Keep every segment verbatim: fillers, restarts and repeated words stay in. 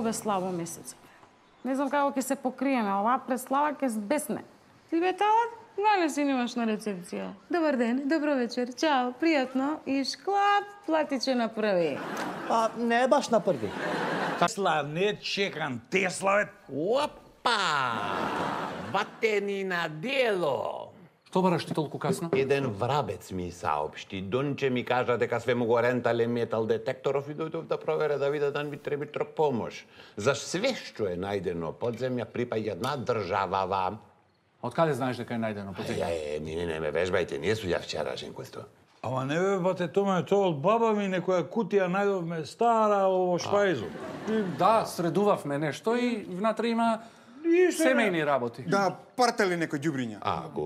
Бе слабо месец. Не знам како ќе се покриеме, оваа преслава ќе збесне. Ти бе талат, нале си немаш на рецепција. Добар ден, добро вечер, чао, пријатно и шклап платиче на први. Па не е баш на први. Тесла, не чекам, Тесла бе. Опа! Ватени на дело! Што бараш ти толку касно? Еден врабец ми саопшти. Донче ми кажа дека све му го рентале метал детекторов и дојдов да провере да виде да ми треба трок помош. За све што е најдено под земја припаѓа на државава. Од каде знаеш дека е најдено под земја? Е, ми не, не ме вежбајте, не су ја вчерашен квесто. Ама не бе, бате, томе, тоа од баба ми некоја кутија најдовме стара во шпајзу. Да, средувавме нешто и внатре има семејни работи. Да, партали некој ѓубриња. А, го,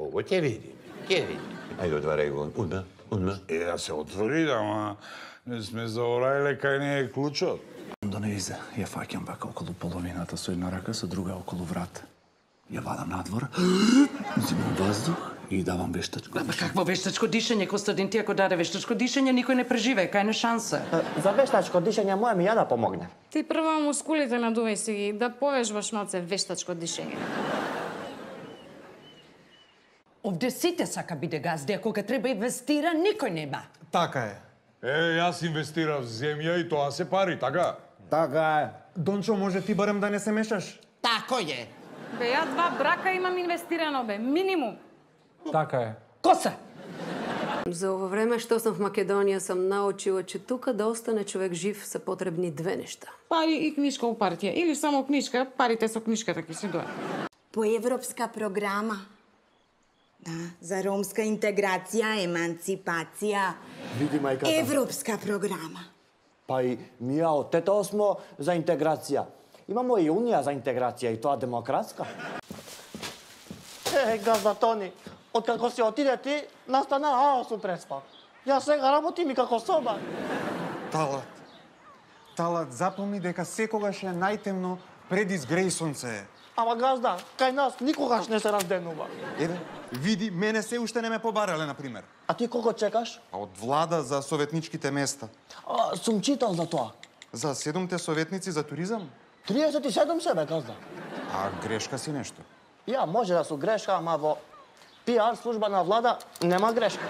ово ќе видим, ќе видим. Ајде, отварај го, удна, удна. Е, да се отвори, ама не сме заорајле кај не е клучот. Да не изе, ја фаќам вака околу половината со една рака, со друга околу врат. Ја вадам надвор, зимам воздух и давам вештачко Ама какво вештачко дишење, Костадин, ти ако даде вештачко дишење, никој не преживее, кај не шанса. За вештачко дишење моја ми ја да помогне. Ти прво мускулите надувај си ги, да повежбаш малце вештачко дишење. Овде сите сака биде газди, а кога треба инвестира, никој нема. Така е. Е, јас инвестирав земја и тоа се пари, така? Така е. Дончо, може ти барем да не се мешаш? Тако е. Бе, ја два брака имам инвестирано, бе, минимум. Така е. Коса! За ово време што сум в Македонија сум научила, че тука да остане човек жив се потребни две нешта. Пари и книжка у партија. Или само книжка, парите со книжката ќе си дојдат. По европска програма. Да, за ромска интеграција, еманципација. Види мајката. Европска програма. Па и ние од тето смо за интеграција. Имамо и Унија за интеграција и тоа демократска. Е, газда Тони, откако си отиде ти, настана хаос у преспав. Јас сега работим и како соба. Талат. Талат, запомни дека секогаш е најтемно пред изгреј сонце. Ама газда, кај нас никогаш не се разденува. Еве, види, мене се уште не ме побарале, например. А ти колко чекаш? А од влада за советничките места. А, сум читал за тоа. За седумте советници за туризам? триесет и седум себе, газда. А грешка си нешто. Ја, може да су грешка, ама во пиар служба на влада нема грешка.